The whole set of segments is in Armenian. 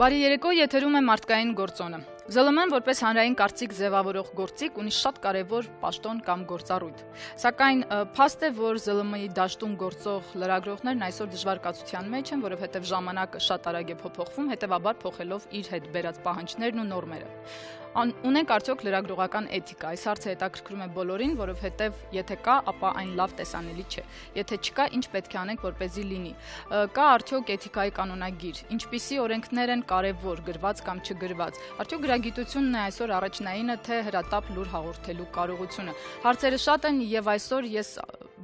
Բարի երեկո, եթերում է մարդկային գործոնը։ ԶԼՄ-ն որպես հանրային կարծիք ձևավորող գործիք ունի շատ կարևոր պաշտոն կամ գործառույթ։ Սակայն փաստ է, որ ԶԼՄ-ի դաշտում գործող լրագրողներն այսօր դժվար կացության մեջ են, որովհետև ժամանակը շատ արագ է փոփոխվում, հետևաբար փոխելով իր հետ բերած պահանջներն ու նորմերը։ Ունենք արդյոք լրագրողական էթիկա։ Այս հարցը հետաքրքրում է բոլորին, որովհետև եթե կա, ապա այն լավ տեսանելի չէ։ Եթե չկա, ինչ պետք է անենք, որպեսզի լինի։ Կա արդյոք էթիկայի կանոնագիր, ինչպիսի օրենքներ են կարևոր, գրված կամ չգրված։ Արդյոք գրագիտությունն է այսօր առաջնայինը, թե հրատապ լուր հաղորդելու կարողությունը։ Հարցերը շատ են եւ այսօր ես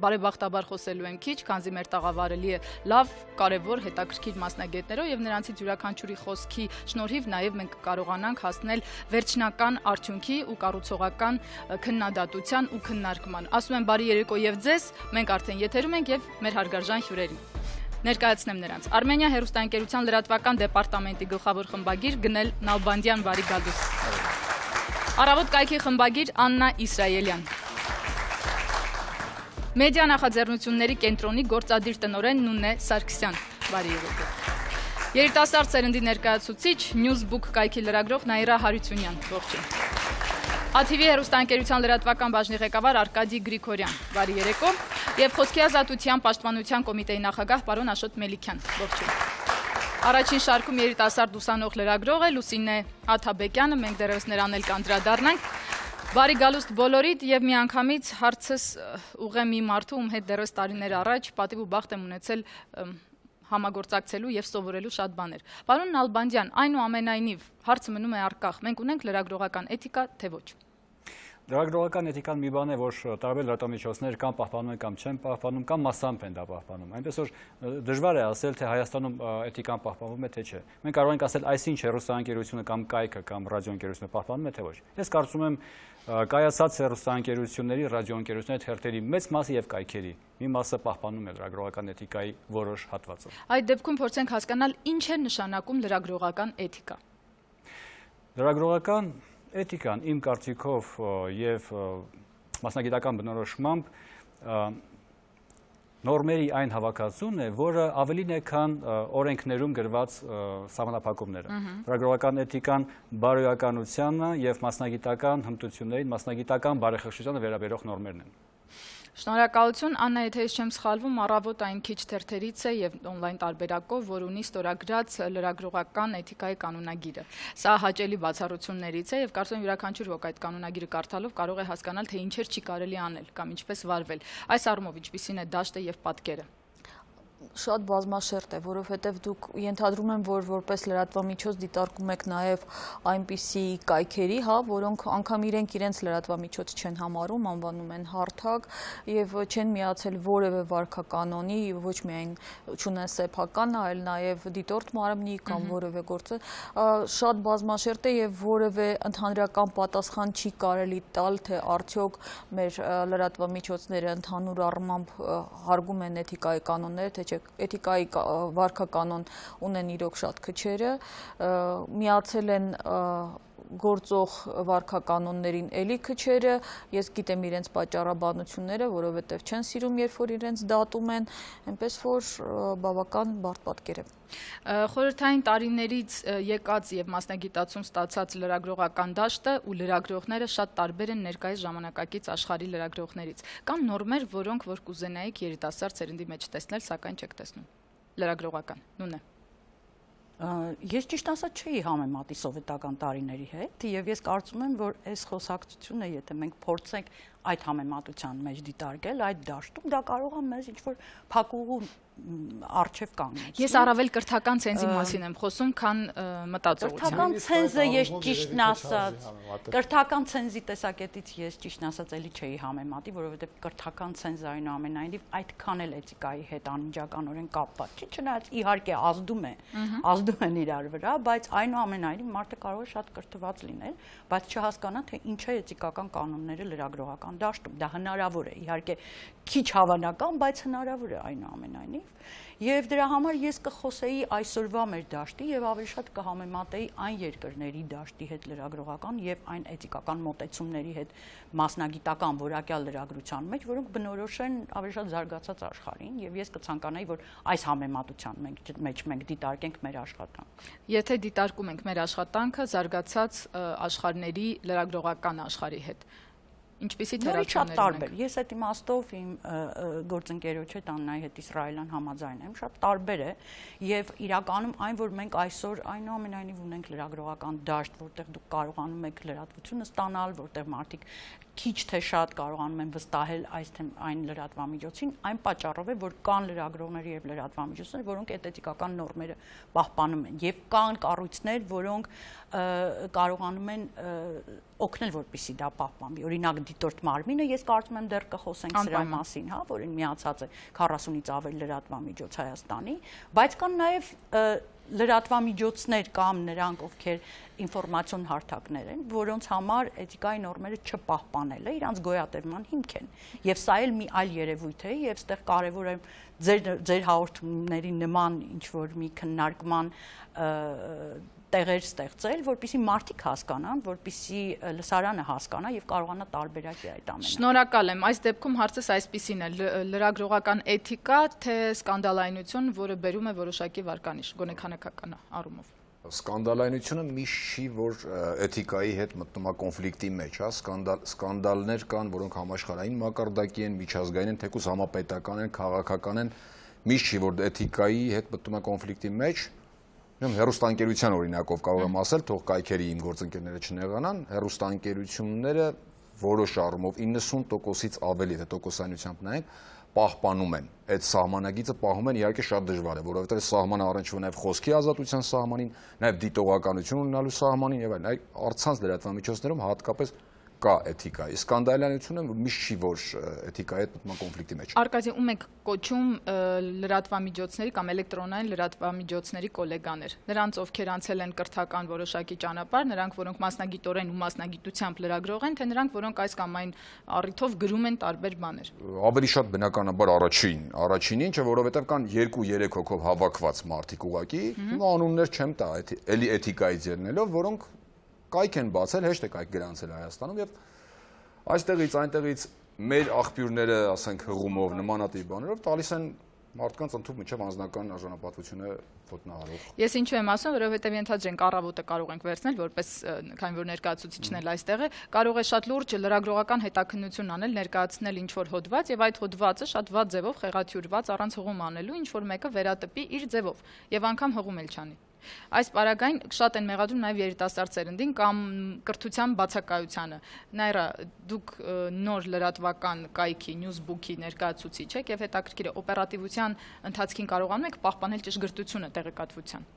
բարեբախտաբար խոսելու եմ քիչ, քանզի մեր տաղավարելի է լավ, կարևոր, հետաքրքիր մասնագետներով եւ նրանցից յուրաքանչյուրի խոսքի շնորհիվ նաեւ մենք կարողանանք հասնել վերջնական արդյունքի ու կառուցողական քննադատության ու քննարկման։ Ասում եմ բարի երեկո եւ ձեզ, մենք արդեն եթերում ենք եւ մեր հարգարժան հյուրերին։ Ներկայացնեմ նրանց։ Արմենիա հեռուստաընկերության լրատվական դեպարտամենտի գլխավոր խմբագիր Գնել Նալբանդյան, բարի գալուս։ Առավոտ կայքի խմբագիր Աննա Իսրայելյան։ Մեդիա նախաձեռնությունների կենտրոնի գործադիր տնօրեն Նունե Սարգսյան, բարի երեկո։ Երիտասարդ սերնդի ներկայացուցիչ Newsbook կայքի լրագրող Նաիրա Հարությունյան, ողջույն։ ATV հեռուստաընկերության լրատվական բաժնի ղեկավար Արկադի Գրիգորյան, բարի երեկո, եւ Խոսքի ազատության պաշտպանության կոմիտեի նախագահ պարոն Աշոտ Մելիքյան, ողջույն։ Առաջին շարքում երիտասարդ ուսանող լրագրող է Լուսինե Աթաբեկյանը, մենք դեռևս նրան էլ կանդրադառնանք։ Բարի գալուստ բոլորիդ եւ միանգամից հարցս ուղղեմ մի մարդու, ում հետ դեռևս տարիներ առաջ պատիվ ու բախտ եմ ունեցել համագործակցելու եւ սովորելու շատ բաներ։ Պարոն Նալբանդյան, այնուամենայնիվ հարցը մնում է առկախ։ Մենք ունենք լրագրողական էթիկա, թե ոչ։ Լրագրողական էթիկան մի բան է, որ տարբեր լրատվամիջոցներ կամ պահպանում են կամ չեն պահպանում, կամ մասամբ են դա պահպանում։ Այնպես որ դժվար է ասել, թե Հայաստանում էթիկան պահպանվում է, թե չէ։ Մենք կարող ենք ասել, այսինչ հեռուստաընկերությունը կամ կայքը կամ ռադիոընկերությունը պահպանում է, թե ոչ։ Ես կարծում եմ, կայացած հեռուստաընկերությունների, ռադիոընկերությունների թերթերի մեծ մասը եւ կայքերի մի մասը պահպանում է լրագրողական էթիկայի որոշ հատվածը։ Այդ դեպքում փորձենք հասկանալ, ինչ է նշանակում լրագրողական էթիկա։ Լրագրողական էթիկան իմ կարծիքով եւ մասնագիտական բնորոշմամբ նորմերի այն հավաքածուն է, որը ավելին է, քան օրենքներում գրված սահմանափակումները։ Լրագրողական էթիկան բարոյականությանը եւ մասնագիտական հմտություններին, մասնագիտական բարեխիղճությանը վերաբերող նորմերն են։ Շնորհակալություն, Աննա, եթե ես չեմ սխալվում, առավոտ այն քիչ թերթերից է եւ օնլայն տարբերակով, որ ունի ստորագրած լրագրողական էթիկայի կանոնագիրը։ Սա հաճելի բացառություններից է եւ կարծում եմ յուրաքանչյուր ոք այդ կանոնագիրը կարդալով կարող է հասկանալ, թե ինչեր չի կարելի անել կամ ինչպես վարվել։ Այս առումով ինչպիսին է դաշտը եւ պատկերը։ Շատ բազմաշերտ է, որովհետև դուք ենթադրում եմ, որ որպես լրատվամիջոց դիտարկում եք նաև այնպիսի կայքերի, որոնք անգամ իրենց լրատվամիջոց չեն համարում, անվանում են հարթակ եւ չեն միացել որևէ վարքականոնի, ոչ միայն չունեն սեփական, այլ նաև դիտորդ մարմնի կամ որևէ գործը, շատ բազմաշերտ է եւ որևէ ընդհանրական պատասխան չի կարելի տալ, թե արդյոք մեր լրատվամիջոցները ընդհանուր առմամբ հարգում են էթիկայի կանոնները, թե էթիկայի վարքականոն ունեն իրոք շատ քչերը, միացել են գործող վարքականոններին էլի քչերը, ես գիտեմ իրենց պատճառաբանությունները, որովհետև չեն սիրում, երբ որ իրենց դատում են, այնպես որ բավական բարդ պատկեր է։ Խորհրդային տարիներից եկած եւ մասնագիտացում ստացած լրագրողական դաշտը ու լրագրողները շատ տարբեր են ներկայիս ժամանակակից աշխարհի լրագրողներից։ Կան նորմեր, որոնք որ կուզենայիք երիտասարդ սերնդի մեջ տեսնել, սակայն չեք տեսնում։ Լրագրողական, նույնն է։ Ես ճիշտ ասած չէի համեմատի սովետական տարիների հետ եւ ես կարծում եմ, որ այս խոսակցությունը, եթե մենք փորձենք այդ համեմատության մեջ դիտարկել, այդ դաշտում դա կարող է մեզ ինչ-որ փակուղու արժև կանգնել։ Ես առավել կրթական ցենզի մասին եմ խոսում, քան մտածողության։ Կրթական ցենզը ես ճիշտն ասած, կրթական ցենզի տեսակետից ես ճիշտն ասած էլի չէի համեմատի, որովհետև կրթական ցենզը այնուամենայնիվ այդքան էլ էթիկայի հետ անմիջականորեն կապված չի, չնայած իհարկե ազդում են իրար վրա, բայց այնուամենայնիվ մարդը կարող է շատ կրթված լինել, բայց չհասկանա, թե ինչ է էթիկական կանոնները լրագրողական դաշտում։ Դա հնարավոր է, իհարկե քիչ հավանական, բայց հնարավոր է այնուամենայնիվ։ Եվ դրա համար ես կխոսեի այսօրվա մեր դաշտի եւ ավելի շատ կհամեմատեի այն երկրների դաշտի հետ լրագրողական եւ այն էթիկական մոտեցումների հետ մասնագիտական որակյալ լրագրության մեջ, որոնք բնորոշ են ավելի շատ զարգացած աշխարհին եւ ես կցանկանայի, որ այս համեմատության մեջ մենք դիտարկենք մեր աշխատանքը։ Եթե դիտարկում ենք մեր աշխատանքը զարգացած աշխարհների լրագրողական աշխարհի հետ, ինչպիսի թերություններ ունենք։ Ես այդ իմաստով իմ գործընկերոջ հետ Աննայի հետ իսրայելյան համաձայն եմ, շատ տարբեր է եւ իրականում այն, որ մենք այսօր այնուամենայնիվ ունենք լրագրողական դաշտ, որտեղ դուք կարողանում եք լրատվությունը ստանալ, որտեղ մարդիկ քիչ թե շատ կարողանում են վստահել այն լրատվամիջոցին, այն պատճառով է, որ կան լրագրողներ եւ լրատվամիջոցներ, որոնք էթիկական նորմերը պահպանում են եւ կան կառույցներ, որոնք կարողանում են օգնել, որպեսզի դա պահպանվի։ Օրինակ դիտորդ մարմինը, ես կարծում եմ դեռ կխոսենք սրա մասին, հա, որին միացած է 40-ից ավել լրատվամիջոց Հայաստանի, բայց կան նաեւ լրատվամիջոցներ կամ նրանք, ովքեր ինֆորմացիոն հարթակներ են, որոնց համար էթիկայի նորմերը չպահպանելը իրանց գոյատևման հիմք են։ Եվ սա էլ մի այլ երևույթ է, եւ այստեղ կարեւոր է ձեր հաղորդումների նման ինչ որ մի քննարկման տեղեր ստեղծել, որպեսզի մարդիկ հասկանան, որպեսզի լսարանը հասկանա եւ կարողանա տարբերակի այդ ամենը։ Շնորհակալ եմ։ Այս դեպքում հարցս այսպիսին է՝ լրագրողական էթիկա, թե սկանդալայնություն, որը բերում է որոշակի վարկանիշ, գոնե քանակական առումով։ Սկանդալայնությունը միշտ չի, որ էթիկայի հետ մտնում է կոնֆլիկտի մեջ, հա, սկանդալներ կան, որոնք համաշխարհային մակարդակի են, միջազգային են, թեկուզ համապետական են, քաղաքական են, միշտ չի, որ էթիկայի հետ մտնում է կոնֆլիկտի մեջ։ Հեռուստաընկերության օրինակով կարող եմ ասել, թող կայքերի իմ գործընկերները չնեղանան, հեռուստաընկերությունները որոշ առումով 90%-ից ավելի, թե տոկոսայնությամբ նայենք, պահպանում են։ Այդ սահմանագիծը պահում են իհարկե շատ դժվար է, որովհետև սահմանը առնչվում է նաև խոսքի ազատության սահմանին, նաև դիտողականություն ունենալու սահմանին եւ այլն։ Առցանց լրատվամիջոցներում հատկապես կա էթիկա։ Սկանդալայնությունը միշտ չի, որ էթիկայի հետ մտնում կոնֆլիկտի մեջ։ Արկադի, ում եք կոչում լրատվամիջոցների կամ էլեկտրոնային լրատվամիջոցների կոլեգաներ։ Նրանց, ովքեր անցել են կրթական որոշակի ճանապարհ, նրանք, որոնք մասնագիտորեն ու մասնագիտությամբ լրագրող են, թե նրանք, որոնք այս կամ այն առիթով գրում են տարբեր բաներ։ Ավելի շատ բնականաբար առաջինը, ինչը որովհետև կան 2-3 հոգով հավաքված մարդիկ ուղակի, անուններ չեմ տա, էլի էթիկայից ելնելով, որոնք կայք են բացել, հեշտ է կայք գրանցել Հայաստանում եւ այստեղից այնտեղից մեր աղբյուրները, ասենք հղումով, նմանատիպ բաներով տալիս են մարդկանց ընդհանուր միջև անձնական արժանապատվությունը ոտնահարող։ Ես ինչու եմ ասում, որովհետև ենթադրենք առավոտը կարող ենք վերցնել, որպես քանի որ ներկայացուցիչն էլ այստեղ է, կարող է շատ լուրջ լրագրողական հետաքննություն անել, ներկայացնել ինչ որ հոդված եւ այդ հոդվածը շատ վատ ձևով խեղաթյուրված առանց հղում անելու, ինչ որ մեկը վերատպի իր ձևով եւ անգամ հղում էլ չանի։ Այս պարագային շատ են մեղադրում նաև երիտասարդ սերնդին կամ կրթության բացակայությանը։ Նաիրա, դուք նոր լրատվական կայքի Newsbook-ի ներկայացուցիչ եք եւ հետաքրքիր է օպերատիվության ընթացքին կարողանում եք պահպանել ճշգրտությունը տեղեկատվության։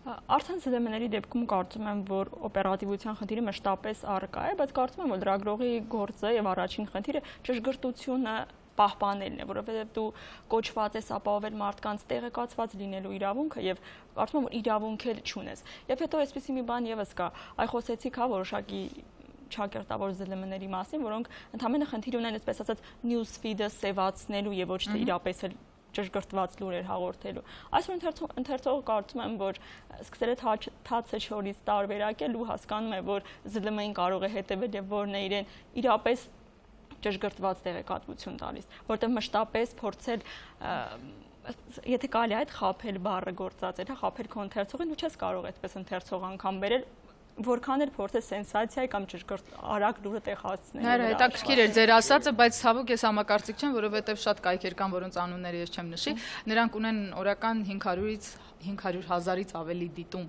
Արդեն ԶԼՄ-ների դեպքում կարծում եմ, որ օպերատիվության խնդիրը մշտապես առկա է, բայց կարծում եմ, որ լրագրողի գործը եւ առաջին խնդիրը ճշգրտությունը պահպանելն է, որովհետև դու կոչված ես ապահովել մարդկանց տեղեկացված լինելու իրավունքը եւ կարծում եմ, որ իրավունք էլ չունես։ Եվ հետո այսպեսի մի բան եւս կա, այ խոսեցիք հա որոշակի ճակերտավոր ԶԼՄ-ների մասին, որոնք ընդհանրապես խնդիր ունեն, այսպես ասած, news feed-ը սևացնելու եւ ոչ թե իրապես էլ ճշգրտված լուրեր հաղորդելու։ Այսօր ընթերցողը կարծում եմ, որ սկսել է թացը չորից տարբերակել ու հասկանում է, որ ԶԼՄ-ին կարող է հետևել եւ որն է իրեն իրապես ճշգրտված տեղեկատվություն տալիս, որտեղ մշտապես փորձել, եթե կարելի է այդ խաբել բառը գործածել, հա, խաբել քո ընթերցողին, դու չես կարող այդպես ընթերցող անգամ բերել, որքան էլ փորձես սենսացիայի կամ ճշգրտ արագ լուրը տեղ հասցնել։ Նայր, հետաքրքիր էր ձեր ասածը, բայց ցավոք ես համակարծիք չեմ, որովհետև շատ կայքեր կան, որոնց անունները ես չեմ նշի, նրանք ունեն օրական 500-ից 500,000-ից ավելի դիտում,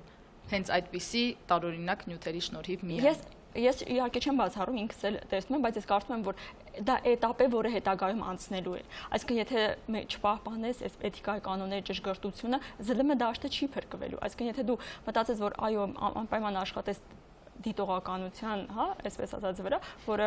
հենց այդպիսի տարօրինակ նյութերի շնորհիվ միայն։ Ես իհարկե չեմ բացառում, ինքս էլ տեսնում եմ, բայց ես կարծում եմ, որ դա էտապ է, որը հետագայում անցնելու է։ Այսինքն, եթե չպահպանես այս էթիկայի կանոնների ճշգրտությունը, ԶԼՄ դաշտը չի փրկվելու։ Այսինքն, եթե դու մտածես, որ այո, անպայման աշխատես դիտողականության, հա, այսպես ասած վրա, որը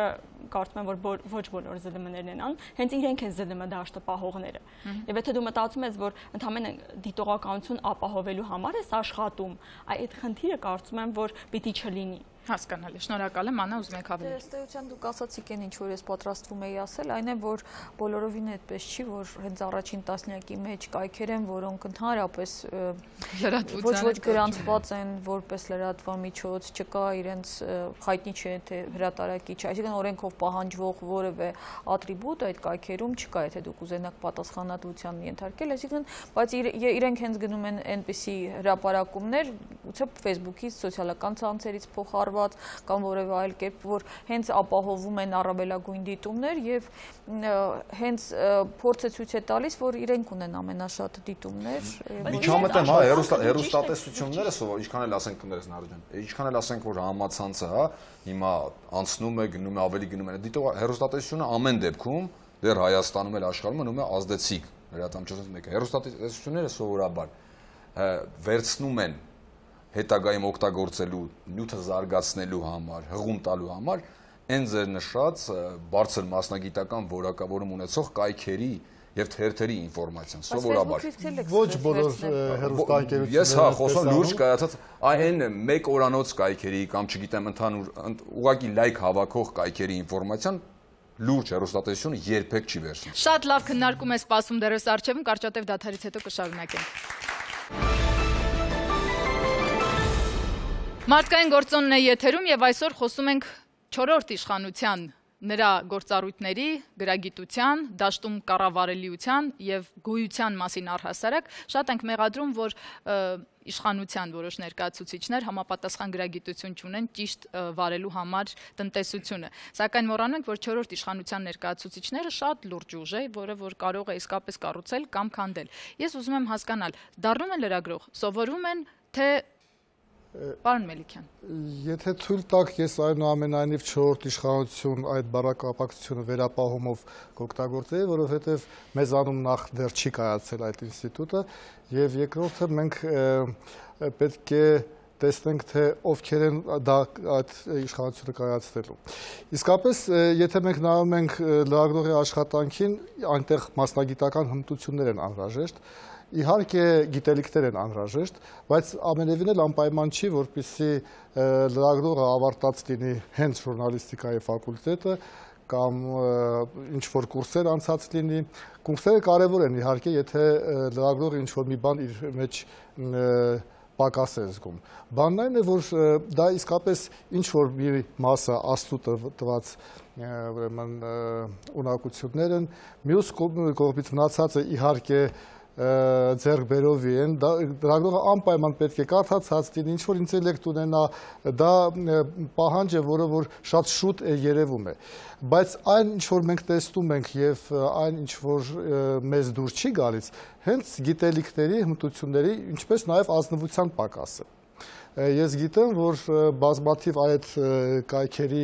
կարծում եմ, որ ոչ բոլոր ԶԼՄ-ներն են անում, հենց իրենք են ԶԼՄ դաշտը պահողները։ Եվ եթե դու մտածում ես, որ ընդհանրապես դիտողականություն ապահովելու համար ես աշխատում, այդ խնդիրը կարծում եմ, որ պիտի չլինի։ Հասկանալի, շնորհակալ եմ, Աննա, ուզում եք ավելի։ Ըստ էության դուք ասացիք են ինչ որ ես պատրաստվում էի ասել, այն է որ բոլորովին այդպես չի, որ հենց առաջին տասնյակի մեջ կայքեր են, որոնք ընդհանրապես ոչ գրանցված են որպես լրատվամիջոց, չկա իրենց հայտնի չէ թե հրատարակիչ, այսինքն օրենքով պահանջվող որևէ ատրիբուտ այդ կայքերում չկա, եթե դուք ուզենաք պատասխանատվության ենթարկել, այսինքն, բայց իրենք հենց գնում են այնպիսի հրապարակումներ, ուղղակի Facebook-ից, սոցիալական ցանցերից փոխառված կամ որևէ այլ կերպ, որ հենց ապահովում են առավելագույն դիտումներ եւ հենց փորձը ցույց է տալիս, որ իրենք ունեն ամենաշատ դիտումներ։ Միջամտեմ, հա, հեռուստատեսությունները սովոր, ինչքան էլ ասենք կներես Նարեջան, ինչքան էլ ասենք որ համացանցը, հա, հիմա անցնում է, գնում է, ավելի գնում է։ Դիտող հեռուստատեսությունը ամեն դեպքում դեռ Հայաստանում էլ աշխարհում մնում է ազդեցիկ լրատվամիջոցներից մեկը։ Հեռուստատեսությունները սովորաբար վերցնում են հետագայում օգտագործելու, նյութը զարգացնելու համար, հղում տալու համար այն ձեր նշած բարձր մասնագիտական որակավորում ունեցող կայքերի եւ թերթերի ինֆորմացիան սովորաբար ոչ բոլոր հեռուստաընկերությունները ես հա խոսում լուրջ կայացած այն մեկ օրանոց կայքերի կամ չգիտեմ ընդհանուր ուղղակի լայք հավաքող կայքերի ինֆորմացիան լուրջ հեռուստատեսությունը երբեք չի վերցնում։ Շատ լավ քննարկում է սպասում դեռս արչեվում, կարճատև դադարից հետո կշարունակենք։ Մարդկային գործոնն է եթերում եւ այսօր խոսում ենք 4-րդ իշխանության նրա գործառույթների, գրագիտության, դաշտում կառավարելիության եւ գոյության մասին առհասարակ շատ ենք մեղադրում, որ իշխանության որոշ ներկայացուցիչներ համապատասխան գրագիտություն չունեն ճիշտ վարելու համար տնտեսությունը։ Սակայն մոռանում ենք, որ 4-րդ իշխանության ներկայացուցիչները շատ լուրջ ուժ է, որը որ կարող է իսկապես կառուցել կամ քանդել։ Ես ուզում եմ հասկանալ, դառնում են լրագրող, սովորում են, թե Պարոն Մելիքյան։ Եթե թույլ տաք, ես այնուամենայնիվ 4-րդ իշխանություն այդ բառակապակցությունը վերապահումով կօգտագործեի, որովհետև մեզանում նախ դեռ չի կայացել այդ ինստիտուտը, եւ երկրորդը մենք պետք է տեսնենք, թե ովքեր են այդ իշխանությունը կայացնելու։ Իսկապես, եթե մենք նայում ենք լրագրողի աշխատանքին, այնտեղ մասնագիտական հմտություններ են անհրաժեշտ, իհարկե գիտելիքներ են անհրաժեշտ, բայց ամենևին էլ անպայման չի, որպեսզի լրագրողը ավարտած լինի հենց ժուրնալիստիկայի ֆակուլտետը կամ ինչ-որ կուրսեր անցած լինի։ Կուրսերը կարևոր են իհարկե, եթե լրագրողը ինչ-որ մի բան իր մեջ պակաս է զգում։ Բանն այն է, որ դա իսկապես ինչ-որ մի մասը աստծո տված ուրեմն ունակություններ են, մյուս կողմից մնացածը իհարկե ձեռք բերովի են, լրագրողը անպայման պետք է կարդացած լինի, ինչ-որ ինտելեկտ ունենա, դա պահանջ է, որը որ շատ շուտ է երևում է։ Բայց այն, ինչ-որ մենք տեսնում ենք և այն, ինչ-որ մեզ դուր չի գալիս, հենց գիտելիքների, հմտությունների, ինչպես նաև ազնվության պակաս է։ Ես գիտեմ, որ բազմաթիվ այդ կայքերի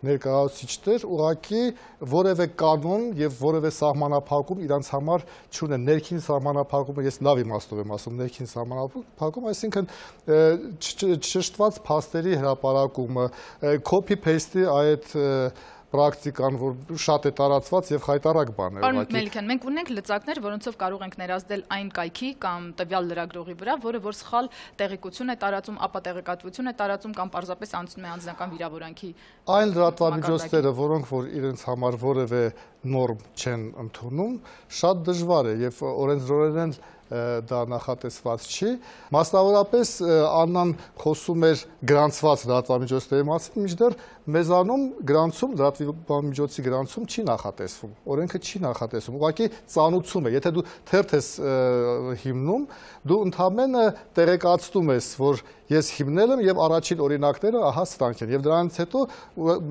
ներկայացուցիչներ ուղղակի որևէ կանոն եւ որևէ սահմանափակում իրանց համար չունեն։ Ներքին սահմանափակումը ես լավ իմաստով եմ ասում, ներքին սահմանափակում, այսինքն ճշտված փաստերի հրապարակումը, copy-paste-ի այդ պրակտիկան, որ շատ է տարածված եւ խայտարակ բան է։ Պարոն Մելիքյան, մենք ունենք լծակներ, որոնցով կարող ենք ներազդել այն կայքի կամ տվյալ լրագրողի վրա, որը որ սխալ տեղեկություն է տարածում, ապա տեղեկատվություն է տարածում կամ պարզապես անցնում է անձնական վիրավորանքի։ Այն լրատվամիջոցները, որոնք որ իրենց համար որևէ նորմ չեն ընդունում, շատ դժվար է եւ օրենսդրորեն դա նախատեսված չի։ Մասնավորապես Աննան խոսում էր գրանցված լրատվամիջոցների մասին, մինչդեռ մեզանում գրանցում, լրատվամիջոցի գրանցում չի նախատեսվում, օրենքը չի նախատեսվում, ուղղակի ծանուցում է, եթե դու թերթ ես հիմնում, դու ընդհանրապես տեղեկացնում ես, որ ես հիմնել եմ եւ առաջին օրինակները ահա սրանք են եւ դրանից հետո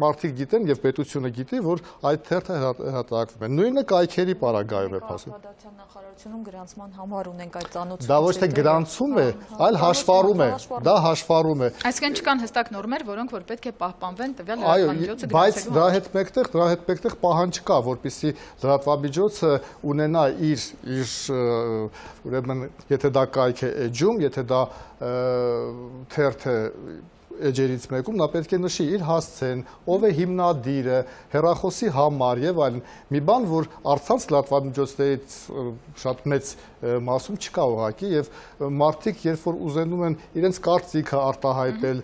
մարդիկ գիտեն եւ պետությունը գիտի, որ այդ թերթը հրատարակվում է։ Նույնը կայքերի պարագայում է ասում։ Քաղաքացիական նախարարությունում գրանցման համար ունենք այդ ծանոթ։ Դա ոչ թե գրանցում է, այլ հաշվառում է։ Դա հաշվառում է։ Այսինքն չկան հստակ նորմեր, որոնք որ պետք է պահպանվեն տվյալ լրատվամիջոցը գրանցելու։ Բայց դրա հետ մեկտեղ պահանջ կա, որպեսզի լրատվամիջոցը ունենա իր ուրեմն եթե դա կայք է էջում, եթե դա թերթ է էջերից մեկում նա պետք է նշի իր հասցեն, ով է հիմնադիրը, հեռախոսի համար եւ այլն։ Մի բան, որ առցանց լրատվամիջոցներից շատ մեծ մասում չկա ուղղակի եւ մարդիկ, երբ որ ուզենում են իրենց կարծիքը արտահայտել,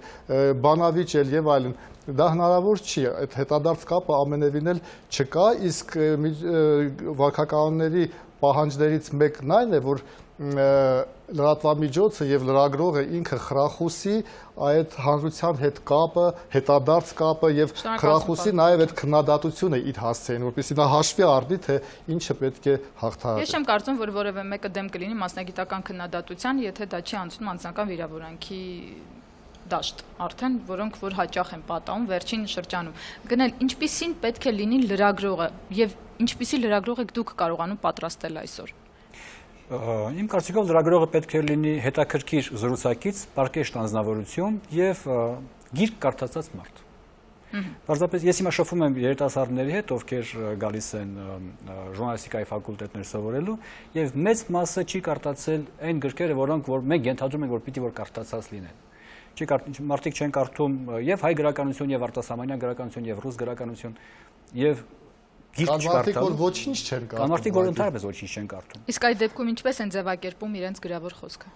բանավիճել եւ այլն, դա հնարավոր չի, այդ հետադարձ կապը ամենևին էլ չկա, իսկ վարքականոնների պահանջներից մեկն այն է, որ լրատվամիջոցը եւ լրագրողը ինքը խրախուսի այդ հանրության հետ կապը, հետադարձ կապը եւ խրախուսի նաեւ այդ քննադատությունը իր հասցեին, որպեսզի նա հաշվի առնի, թե ինչը պետք է հաղթահարել։ Ես չեմ կարծում, որ որևէ մեկը դեմ կլինի մասնագիտական քննադատության, եթե դա չի անցնում անձնական վիրավորանքի դաշտ, արդեն որոնք որ հաճախ են պատահում վերջին շրջանում։ Գնել ինչպիսին պետք է լինի լրագրողը եւ ինչպիսի լրագրող եք դուք կարողանում պատրաստել այսօր։ Իմ կարծիքով լրագրողը պետք է լինի հետաքրքիր զրուցակից, պարկեշտ անձնավորություն եւ գիրք կարդացած մարդ։ Պարզապես ես հիմա շփվում եմ երիտասարդների հետ, ովքեր գալիս են ժուրնալիստիկայի ֆակուլտետներ սովորելու եւ մեծ մասը չի կարդացել այն գրքերը, որոնք որ մենք ենթադրում ենք, որ պիտի որ կարդացած լինեն։ Մարդիկ չեն կարդում եւ հայ գրականություն եւ արտասահմանյան գրականություն եւ ռուս գրականություն եւ գիրք չկարդալ։ Որ ոչինչ չեն կարդում։ Մարդիկ որ ընդհանրապես ոչինչ չեն կարդում։ Իսկ այդ դեպքում ինչպես են ձևակերպում իրենց գրավոր խոսքը։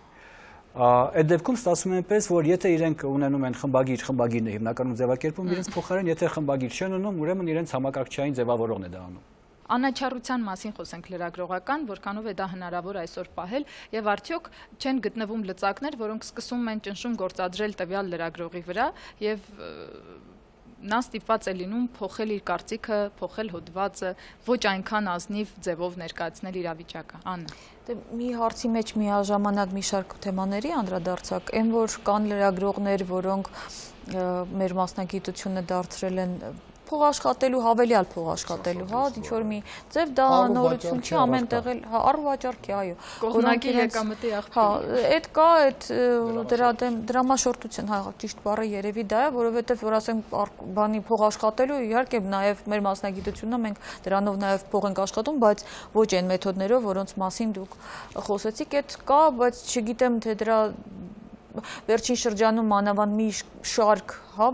Այդ դեպքում ստացվում է այնպես, որ եթե իրենք ունենում են խմբագիրն է հիմնականում ձևակերպում իրենց փոխարեն, եթե խմբագիր չեն ունում, ուրեմն իրենց համակարգչային ձևավորողն է դա անում։ Անաչառության մասին խոսենք լրագրողական, որքանով է դա հնարավոր այսօր պահել եւ արդյոք չեն գտնվում լծակներ, որոնք սկսում են ճնշում գործադրել տվյալ լրագրողի վրա եւ նա ստիպված է լինում փոխել իր կարծիքը, փոխել հոդվածը, ոչ այնքան ազնիվ ձևով ներկայացնել իրավիճակը։ Աննա։ Դե մի հարցի մեջ միաժամանակ մի շարք թեմաների անդրադարձակ, այն որ կան լրագրողներ, որոնք մեր մասնագիտությունը դարձրել են փոխաշխատելու, հավելյալ փոխաշխատելու, հա, ինչ որ մի ձև դա նորություն չի, ամենտեղ էլ, հա, առվաճառքի, այո, կողմնակի եկամտի աղբյուր։ Հա, այդ կա, այդ դրա դեմ դրամաշորտություն, հա, ճիշտ բառը երևի դա է, որովհետև որ ասենք բանի փոխաշխատելու, իհարկե նաև մեր մասնագիտությունը մենք դրանով նաև փող ենք աշխատում, բայց ոչ այն մեթոդներով, որոնց մասին դուք խոսեցիք, այդ կա, բայց չգիտեմ թե դրա վերջին շրջանում մանավանդ մի շարք հա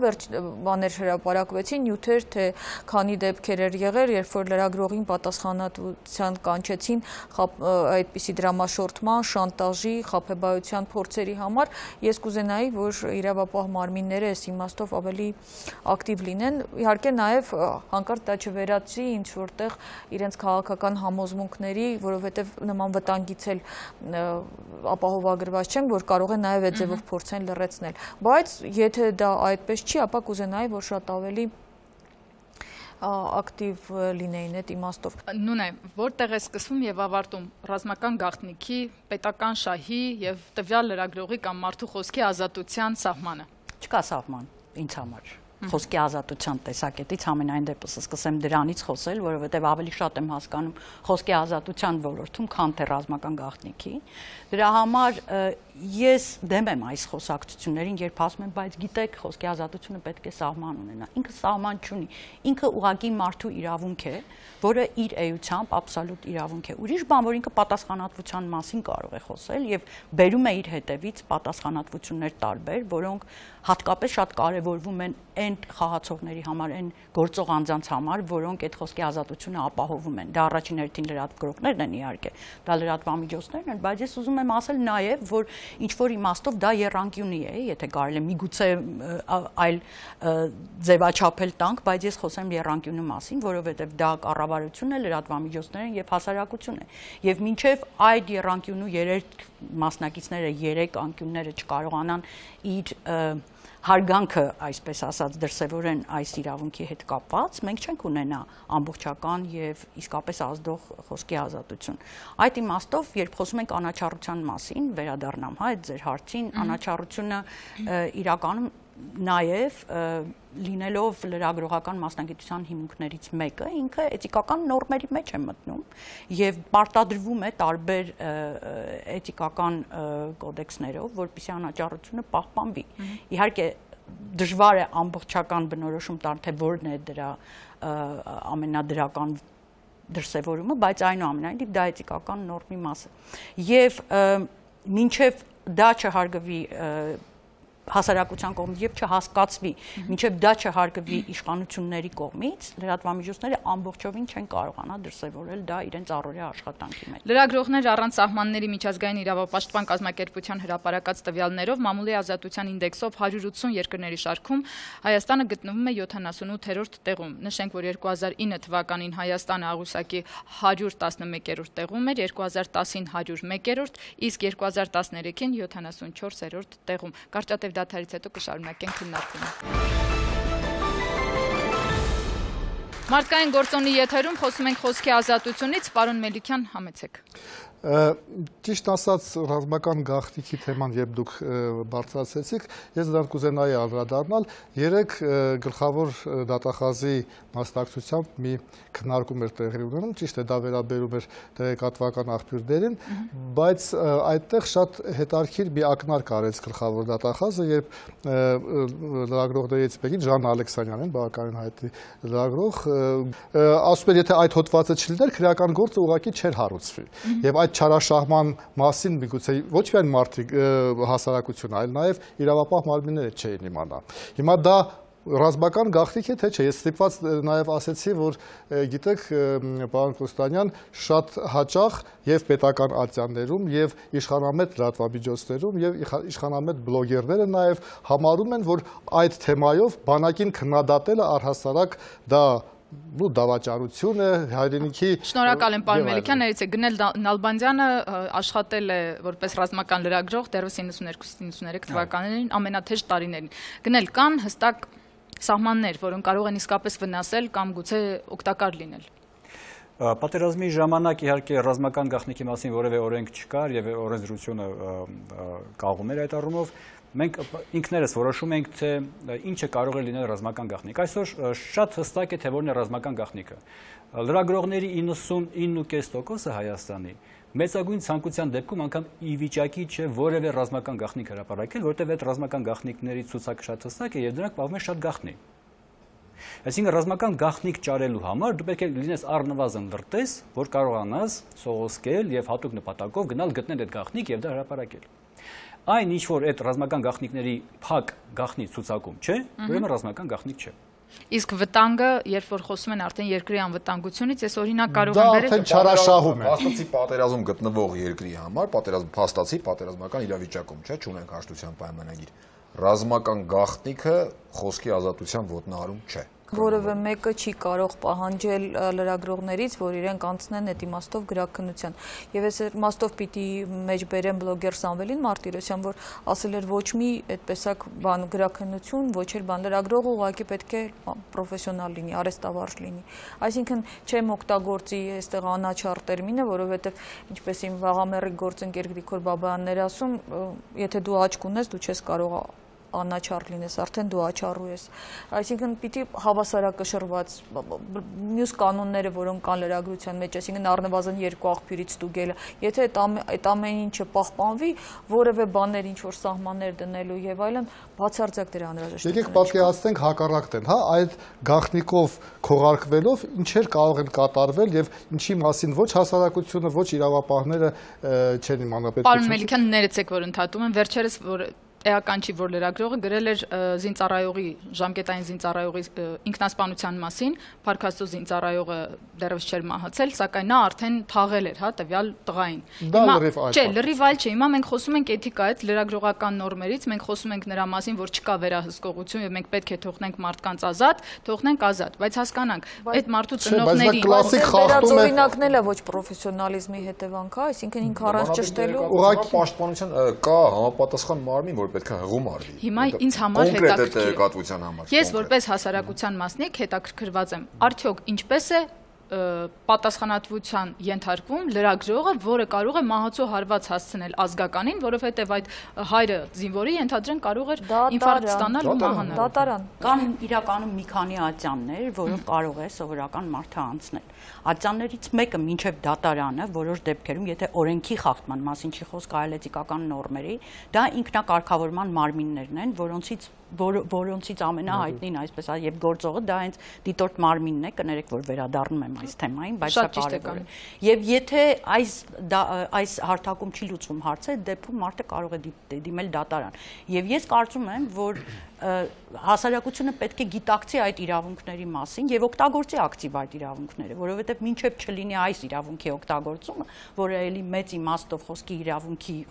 բաներ հրապարակվեցին, նյութեր, թե քանի դեպքեր էր եղել, երբ որ լրագրողին պատասխանատվության կանչեցին այդպիսի դրամաշորտման, շանտաժի, խաբեբայության փորձերի համար, ես կուզենայի, որ իրավապահ մարմինները այս իմաստով ավելի ակտիվ լինեն, իհարկե նաև հանկարծ դա չվերածի ինչ որտեղ իրենց քաղաքական համոզմունքների, որովհետև նման վտանգից էլ ապահովագրված չեն, որ կարող են նաև այդ ձևով փորձեն լրացնել, բայց եթե դա այդպես չի, ապա կուզենայի, որ շատ ավելի ակտիվ լինեին այդ իմաստով։ Նույն է, որտեղ է սկսվում եւ ավարտում ռազմական գաղտնիքի, պետական շահի եւ տվյալ լրագրողի կամ մարդու խոսքի ազատության սահմանը։ Չկա սահման ինձ համար։ Խոսքի ազատության տեսակետից ամենայն դեպս սկսեմ դրանից խոսել, որովհետև ավելի շատ եմ հասկանում խոսքի ազատության ոլորտում, քան թե ռազմական գաղտնիքի։ Դրա համար ես դեմ եմ այս խոսակցություններին, երբ ասում եմ, բայց գիտեք, խոսքի ազատությունը պետք է սահման ունենա։ Ինքը սահման չունի։ Ինքը ուղղակի մարդու իրավունք է, որը իր էությամբ աբսոլյուտ իրավունք է։ Ուրիշ բան, որ ինքը պատասխանատվության մասին կարող է խոսել եւ բերում է իր հետևից պատասխանատվություններ տարբեր, որոնք հատկապես շատ կարևորվում են այն խաղացողների համար, այն գործող անձանց համար, որոնք այդ խոսքի ազատությունը ապահովում են։ Դա առաջին հերթին լրատվողներն են իհարկե, դա լրատվամիջոցներն են, բայց ես ուզում եմ ասել նաև, որ ինչ որ իմաստով դա եռանկյունի է, եթե կարելի է միգուցե այլ ձևաչափել տանք, բայց ես խոսեմ եռանկյունու մասին, որովհետև դա կառավարությունն է, լրատվամիջոցներն են եւ հասարակությունն է։ Եվ մինչև այդ եռանկյունու երեք մասնակիցները, երեք անկյունները չկարողանան իր հարգանքը, այսպես ասած, դրսևորեն այս իրավունքի հետ կապված, մենք չենք ունենա ամբողջական եւ իսկապես ազդող խոսքի ազատություն։ Այդ իմաստով, երբ խոսում ենք անաչառության մասին, վերադառնամ, հա, այդ ձեր հարցին, անաչառությունը իրականում նաև լինելով լրագրողական մասնագիտության հիմունքներից մեկը, ինքը էթիկական նորմերի մեջ է մտնում եւ պարտադրվում է տարբեր էթիկական կոդեքսներով, որպեսզի անաչառությունը պահպանվի։ Իհարկե դժվար է ամբողջական բնորոշում տալ, թե որն է դրա ամենադրական դրսևորումը, բայց այնուամենայնիվ դա էթիկական նորմի մաս է։ Եվ մինչև դա չհարգվի հասարակության կողմից եւ չհասկացվի, մինչեւ դա չհարգվի իշխանությունների կողմից, լրատվամիջոցները ամբողջովին չեն կարողանա դրսևորել դա իրենց առօրյա աշխատանքի մեջ։ Լրագրողներ առանց սահմանների միջազգային իրավապաշտպան կազմակերպության հրապարակած տվյալներով մամուլի ազատության ինդեքսով 180 երկրների շարքում Հայաստանը գտնվում է 78-րդ տեղում։ Նշենք, որ 2009 թվականին Հայաստանը աղյուսակի 111-րդ տեղում էր, 2010-ին 101-րդ, իսկ 2013-ին 74-րդ տեղում։ Կարճատև դադարից հետո կշարունակենք քննարկումը։ Մարդկային գործոնի եթերում խոսում ենք խոսքի ազատությունից, պարոն Մելիքյան, համեցեք։ Ճիշտ ասած, ռազմական գաղտնիքի թեման, երբ դուք բարձրացրեցիք, ես դրան կուզենայի անդրադառնալ, երեք գլխավոր դատախազի մասնակցությամբ մի քննարկում էր տեղի ունենում, ճիշտ է, դա վերաբերում էր տեղեկատվական աղբյուրներին, բայց այդտեղ շատ հետաքրքիր մի ակնարկ արեց գլխավոր դատախազը, երբ լրագրողներից մեկին Ժան Ալեքսանյանն, բավականին հայտնի լրագրող, ասում էր, եթե այդ հոդվածը չլիներ, քրեական գործը ուղղակի չէր հարուցվի։ Եվ այդ չարաշահման մասին միգուցե ոչ միայն մարդիկ հասարակությունը, այլ նաև իրավապահ մարմինները չէին իմանա։ Հիմա դա ռազմական գաղտնիք է, թե չէ։ Ես ստիպված նաև ասեցի, որ գիտեք, պարոն Կոստանյան, շատ հաճախ եւ պետական ատյաններում եւ իշխանամետ լրատվամիջոցներում եւ իշխանամետ բլոգերները նաև համարում են, որ այդ թեմայով բանակին քննադատելը առհասարակ դա դավաճանություն է, հայրենիքի։ Շնորհակալ եմ, պարոն Մելիքյան, ներեցեք, Գնել Նալբանդյանը աշխատել է որպես ռազմական լրագրող դեռևս 92-93 թվականներին ամենաթեժ տարիներին։ Գնել, կան հստակ սահմաններ, որոնք կարող են իսկապես վնասել կամ գուցե օգտակար լինել։ Պատերազմի ժամանակ իհարկե ռազմական գաղտնիքի մասին որևէ օրենք չկար եւ օրենսդրությունը կաղում էր այդ առումով։ Մենք ինքներս որոշում ենք, թե ինչը կարող է լինել ռազմական գաղտնիք։ Այսօր շատ հստակ է, թե որն է ռազմական գաղտնիքը։ Լրագրողների 99.5%-ը Հայաստանի մեծագույն ցանկության դեպքում անգամ ի վիճակի չէ որևէ ռազմական գաղտնիք հրապարակել, որտեղ այդ ռազմական գաղտնիքների ցուցակը շատ հստակ է եւ դրանք պահվում են շատ գաղտնի։ Այսինքն ռազմական գաղտնիք ճարելու համար դու պետք է լինես առնվազն լրտես, որ կարողանաս սողոսկել եւ հատուկ նպատակով գնալ գտնել այդ գաղտնիք եւ դա հրապարակել։ Այն ինչ որ այդ ռազմական գաղտնիքների փակ գաղտնի ցուցակում չէ, ուրեմն ռազմական գաղտնիք չէ։ Իսկ վտանգը, երբ որ խոսում են արդեն երկրի անվտանգությունից, ես օրինակ կարող եմ վերել դա չարաշահում է։ Փաստացի պատերազմ գտնվող երկրի համար, փաստացի պատերազմական իրավիճակում, չէ, չունենք հաշտության պայմանագիր։ Ռազմական գաղտնիքը խոսքի ազատության ոտնահարում չէ։ Որևէ մեկը չի կարող պահանջել լրագրողներից, որ իրենք անցնեն այդ իմաստով գրաքննության։ Եվ այս իմաստով պիտի մեջ բերեմ բլոգեր Սամվելին Մարտիրոսյան, որ ասել էր ոչ մի այդպեսակ բան գրաքննություն, ոչ էլ բան լրագրողը ուղղակի պետք է պրոֆեսիոնալ լինի, արհեստավարժ լինի։ Այսինքն չեմ օգտագործի այստեղ անաչառ տերմինը, որովհետև ինչպես իմ վաղամեռի գործընկեր Գրիգոր Բաբայանն էր ասում, եթե դու աչք ունես, դու չես կարող անաչառ լինես, արդեն դու աչառու ես։ Այսինքն պիտի հավասարակշռված մյուս կանոնները, որոնք կան լրագրության մեջ, այսինքն առնվազն երկու աղբյուրից ստուգելը, եթե այդ ամեն ինչը պահպանվի, որևէ բաներ ինչ որ սահմաններ դնելու եւ այլն, բացարձակ դրա անհրաժեշտ է։ Եկեք պատկերացնենք հակառակն, հա, այդ գաղտնիքով քողարկվելով ինչեր կարող են կատարվել եւ ինչի մասին ոչ հասարակությունը, ոչ իրավապահները չեն իմանա պետք է։ Պարոն Մելիքյան, ներեցեք, որ ընդհատում եմ, վերջերս որ էական չի, որ լրագրողը գրել էր զինծառայողի, ժամկետային զինծառայողի ինքնասպանության մասին, Փարքաստու զինծառայողը դեռևս չէր մահացել, սակայն նա արդեն թաղել էր, հա, տվյալ տղային։ Չէ, լրիվ այլ չէ, հիմա մենք խոսում ենք էթիկայից, լրագրողական նորմերից, մենք խոսում ենք նրա մասին, որ չկա վերահսկողություն եւ մենք պետք է թողնենք մարդկանց ազատ, թողնենք ազատ, բայց հասկանանք, այդ մարդու ծնողների վերածօրինակն էլ է ոչ պրոֆեսիոնալիզմի հետևանք, հա, այսինքն ինքը առանց ճշտելու ուղղակի պաշտպանության կա համապատասխան մարմին, որ պետք է հղում արվի։ Հիմա ինձ համար հետաքրքիր։ Ես որպես հասարակության մասնիկ հետաքրքրված եմ, արդյոք ինչպես է պատասխանատվության ենթարկվում լրագրողը, որը կարող է մահացու հարված հասցնել ազգականին, որովհետև այդ հայրը զինվորի ենթադրեն կարող էր ինֆարկտ ստանալ ու մահանալ։ Դատարան։ Կան իրականում մի քանի ատյաններ, որով կարող է սովորական մարդը անցնել։ Ատյաններից մեկը մինչև դատարանը, որոշ դեպքերում, եթե օրենքի խախտման մասին չի խոսք, այլ էթիկական նորմերի, դա ինքնակարգավորման մարմիններն են, որոնցից որոնցից ամենահայտնին այսպես եւ գործողը դա հենց դիտորդ մարմինն է, կներեք որ վերադառնում եմ այս թեմային, բայց դա կարևոր է։ Եվ եթե այս հարթակում չի լուծվում հարցը, դեպքում մարդը կարող է դիմել դատարան։ Եվ ես կարծում եմ, որ հասարակությունը պետք է գիտակցի այդ իրավունքների մասին եւ օգտագործի ակտիվ այդ իրավունքները, որովհետեւ մինչեւ չլինի այս իրավունքի օգտագործումը, որը էլի մեծ իմաստով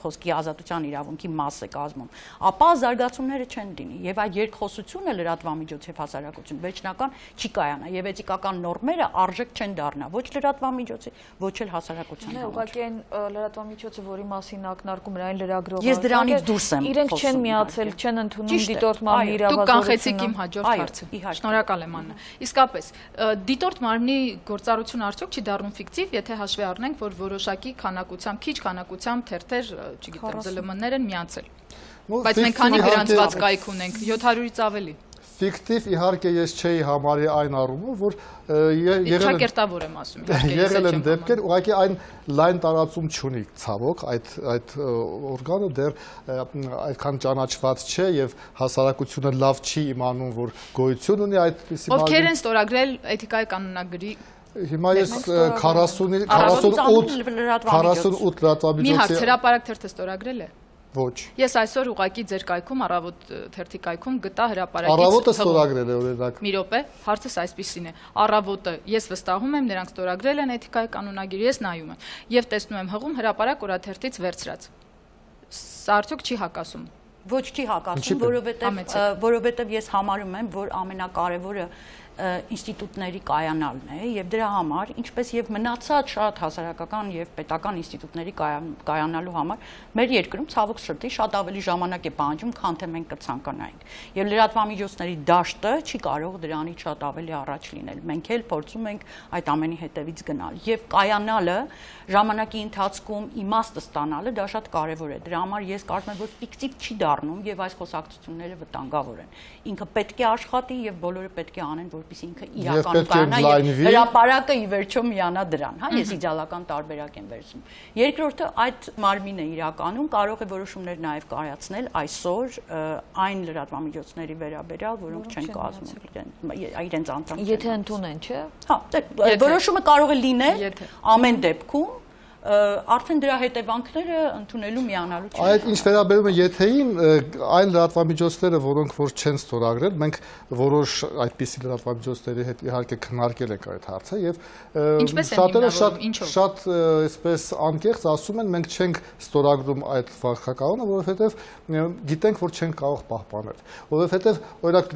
խոսքի ազատության իրավունքի մաս է կազմում, ապա զարգացումները չեն լինի եւ այդ երկխոսությունը լրատվամիջոց եւ հասարակություն վերջնական չի կայանա եւ էթիկական նորմերը արժեք չեն դառնա ոչ լրատվամիջոցի, ոչ էլ հասարակության համար։ Ուղղակի այն լրատվամիջոցը, որի մասին ակնարկում էր այն լրագրողը, ես դրանից դուրս եմ, իրենք չեն միացել, չեն ընդունում դիտորդ մարմնի Դուք կանխեցիք իմ հաջորդ հարցը։ Շնորհակալ եմ Աննա։ Իսկապես, դիտորդ մարմնի գործառությունը արդյոք չի դառնում ֆիկտիվ, եթե հաշվի առնենք, որ որոշակի քանակությամբ, քիչ քանակությամբ թերթեր, չգիտեմ, ԶԼՄ-ներ են միացել։ Բայց մենք քանի գրանցված կայք ունենք, 700-ից ավելի։ Ֆիկտիվ իհարկե ես չէի համարի այն առումով, որ Ճակերտավոր եմ ասում, եղել են դեպքեր, ուղղակի այն լայն տարածում չունի ցավոք, այդ օրգանը դեռ այդքան ճանաչված չէ եւ հասարակությունը լավ չի իմանում, որ գոյություն ունի այդպիսի մարմին։ Ովքեր են ստորագրել էթիկայի կանոնագրի։ Հիմա ես 48 լրատվամիջոցի։ Մի հարց, հրապարակ թերթը ստորագրել է։ Ոչ։ Ես այսօր ուղղակի ձեր կայքում առավոտ թերթի կայքում գտա հրապարակից։ Առավոտը ստորագրել է օրինակ։ Մի րոպե, հարցս այսպիսին է։ Առավոտը ես վստահում եմ, նրանք ստորագրել են էթիկայի կանոնագիր, ես նայում եմ եւ տեսնում եմ հղում հրապարակ օրաթերթից վերցրած։ Սա արդյոք չի հակասում։ Ոչ չի հակասում, որովհետեւ ես համարում եմ, որ ամենակարևորը ինստիտուտների կայանալն է եւ դրա համար, ինչպես եւ մնացած շատ հասարակական եւ պետական ինստիտուտների կայանալու համար մեր երկրում ցավոք սրտի շատ ավելի ժամանակ է պահանջում, քան թե մենք կցանկանայինք։ Եվ լրատվամիջոցների դաշտը չի կարող դրանից շատ ավելի առաջ լինել։ Մենք էլ փորձում ենք այդ ամենի հետևից գնալ եւ կայանալը ժամանակի ընթացքում իմաստը ստանալը դա շատ կարեւոր է։ Դրա համար ես կարծում եմ, որ ֆիկտիվ չի դառնում եւ այս խոսակցությունները վտանգավոր են։ Ինքը պետք է աշխատի եւ բոլորը պետք է անեն, որպեսզի ինքը իրականում կայանա եւ հրապարակը ի վերջո միանա դրան, հա, ես իդեալական տարբերակ եմ վերցնում։ Երկրորդը այդ մարմինը իրականում կարող է որոշումներ նաեւ կայացնել այսօր այն լրատվամիջոցների վերաբերյալ, որոնք չեն կազմում իրենց անդամ։ Եթե ընդունեն, չէ՞։ Հա, որոշումը կարող է լինել ամեն դեպքում արդեն դրա հետևանքները ընդունելու միանալու չեն։ Այդ ինչ վերաբերում է եթեին, այն լրատվամիջոցները, որոնք որ չեն ստորագրել, մենք որոշ այդպիսի լրատվամիջոցների հետ իհարկե քննարկել ենք այդ հարցը եւ շատերը շատ այսպես անկեղծ ասում են, մենք չենք ստորագրում այդ վարքականոնը, որովհետեւ գիտենք, որ չենք կարող պահպանել։ Որովհետեւ օրինակ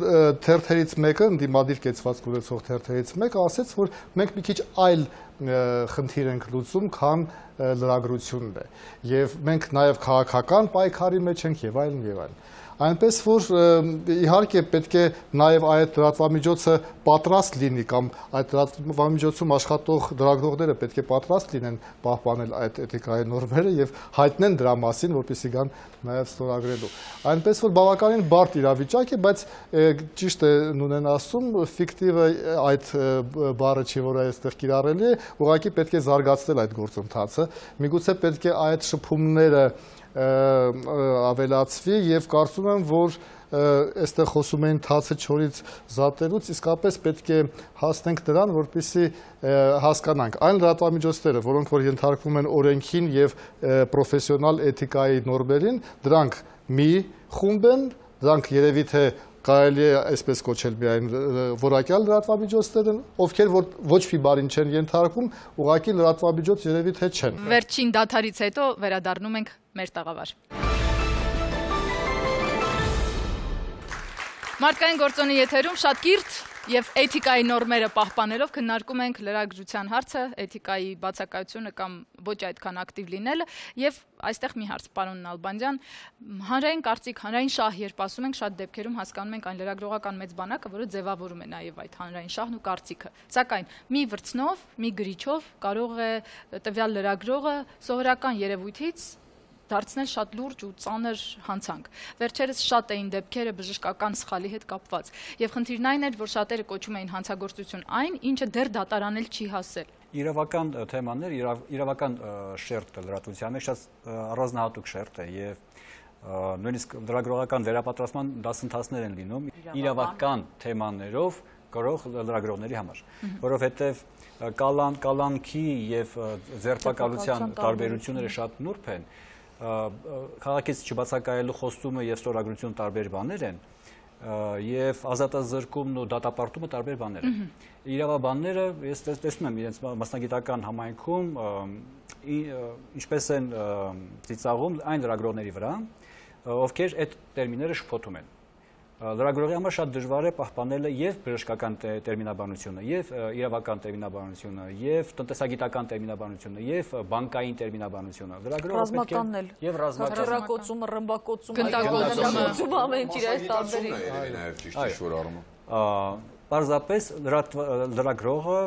թերթերից մեկը, ընդդիմադիր կեցվածք ունեցող թերթերից մեկը ասեց, որ մենք մի քիչ այլ խնդիր ենք լուծում, քան լրագրությունն է։ Եվ մենք նաև քաղաքական պայքարի մեջ ենք եւ այլն եւ այլն։ Այնպես որ իհարկե պետք է նաև այդ լրատվամիջոցը պատրաստ լինի կամ այդ լրատվամիջոցում աշխատող լրագրողները պետք է պատրաստ լինեն պահպանել այդ էթիկայի նորմերը եւ հայտնեն դրա մասին, որպեսզի գան նաև ստորագրելու։ Այնպես որ բավականին բարդ իրավիճակ է, բայց ճիշտ է Նունեն ասում, ֆիկտիվը այդ բառը չի, որ այստեղ կիրառելի է, ուղղակի պետք է զարգացնել այդ գործընթացը։ Միգուցե պետք է այդ շփումները ավելացվի եւ կարծում եմ, որ այստեղ խոսում էին թացը չորից զատելուց, իսկապես պետք է հասնենք դրան, որպեսզի հասկանանք այն լրատվամիջոցները, որոնք որ ենթարկվում են օրենքին եւ պրոֆեսիոնալ էթիկայի նորմերին, դրանք մի խումբ են, դրանք երևի թե կարելի է այսպես կոչել միայն որակյալ լրատվամիջոցներ են, ովքեր որ ոչ մի բանին չեն ենթարկվում, ուղղակի լրատվամիջոց երևի թե չեն։ Վերջին դադարից հետո վերադառնում ենք մեր տաղավար։ Մարդկային գործոնի եթերում շատ կիրթ եւ էթիկայի նորմերը պահպանելով քննարկում ենք լրագրության հարցը, էթիկայի բացակայությունը կամ ոչ այդքան ակտիվ լինելը եւ այստեղ մի հարց, պարոն Նալբանդյան, հանրային կարծիք, հանրային շահ, երբ ասում ենք, շատ դեպքերում հասկանում ենք այն լրագրողական մեծ բանակը, որը ձևավորում է նաեւ այդ հանրային շահն ու կարծիքը։ Սակայն մի վրձնով, մի գրիչով կարող է տվյալ լրագրողը սովորական երևույթից դարձնել շատ լուրջ ու ծանր հանցանք։ Վերջերս շատ էին դեպքերը բժշկական սխալի հետ կապված։ Եվ խնդիրն այն էր, որ շատերը կոչում էին հանցագործություն այն, ինչը դեռ դատարանել չի հասել։ Իրավական թեմաներ, իրավական շերտը լրատվության մեջ շատ առանձնահատուկ շերտ է եւ նույնիսկ լրագրողական վերապատրաստման դասընթացներ են լինում իրավական թեմաներով գրող լրագրողների համար, որովհետև կալանքի եւ ձերբակալության տարբերությունները շատ նուրբ են, քաղաքից չբացակայելու խոստումը եւ ստորագրություն տարբեր բաներ են, եւ ազատազրկումն ու դատապարտումը տարբեր բաներ են։ Իրավաբանները, ես տեսնում եմ իրենց մասնագիտական համայնքում ինչպես են ծիծաղում այն լրագրողների վրա, ովքեր այդ տերմինները շփոթում են։ Լրագրողի համար շատ դժվար է պահպանել եւ բժշկական տերմինաբանությունը, եւ իրավական տերմինաբանությունը, եւ տնտեսագիտական տերմինաբանությունը, եւ բանկային տերմինաբանությունը։ Լրագրողը պետք է եւ հրակոծումը, ռմբակոծումը, գնդակոծումը ամեն ինչ իր այս տարբերի։ Նաեւ ճիշտ ինչ-որ առումով։ Պարզապես լրագրողը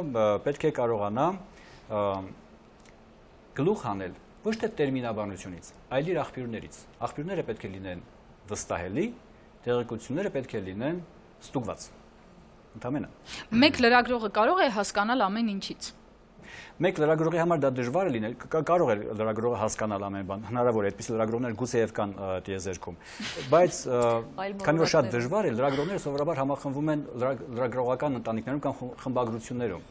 պետք է կարողանա գլուխ հանել ոչ թե տերմինաբանությունից, այլ իր աղբյուրներից։ Աղբյուրները պետք է լինեն վստահելի, տեղեկությունները պետք է լինեն ստուգված։ Ընդամենը։ Մեկ լրագրողը կարող է հասկանալ ամեն ինչից։ Մեկ լրագրողի համար դա դժվար է լինել, կարող է լրագրողը հասկանալ ամեն բան, հնարավոր է, այդպիսի լրագրողներ գուցեև կան տիեզերքում, բայց քանի որ շատ դժվար է, լրագրողները սովորաբար համախմբվում են լրագրողական ընտանիքներում կամ խմբագրություններում,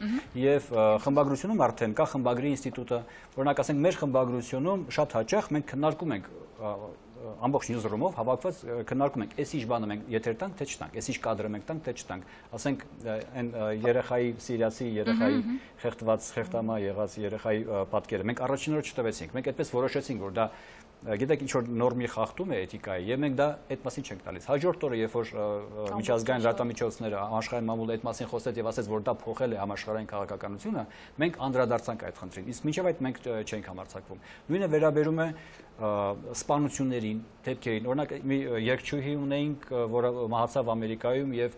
եւ խմբագրությունում արդեն կա խմբագրի ինստիտուտը, օրինակ ասենք մեր խմբագրությունում շատ հաճախ մենք քննարկում ենք ամբողջ նյուզրումով հավաքված քննարկում ենք, այս ինչ բանը մենք եթեր տանք, թե չտանք, այս ինչ կադրը մենք տանք, թե չտանք, ասենք այն երեխայի սիրիացի երեխայի խեղդված, խեղդամա եղած երեխայի պատկերը մենք առաջին օրը չտվեցինք, մենք այդպես որոշեցինք, որ դա գիտեք ինչ որ նորմի խախտում է էթիկայի, եւ մենք դա այդ մասին չենք տալիս։ Հաջորդ օրը, երբ որ միջազգային լրատվամիջոցները աշխարհային մամուլը այդ մասին խոսեց եւ ասեց, որ դա փոխել է համաշխարհային քաղաքականությունը, մենք անդրադարձանք այդ խնդրին։ Իսկ մինչեւ այդ մենք չենք համարձակվում։ Նույնը վերաբերում է սպանություններին, դեպքերին։ Օրինակ մի երգչուհի ունեինք, որը մահացավ Ամերիկայում եւ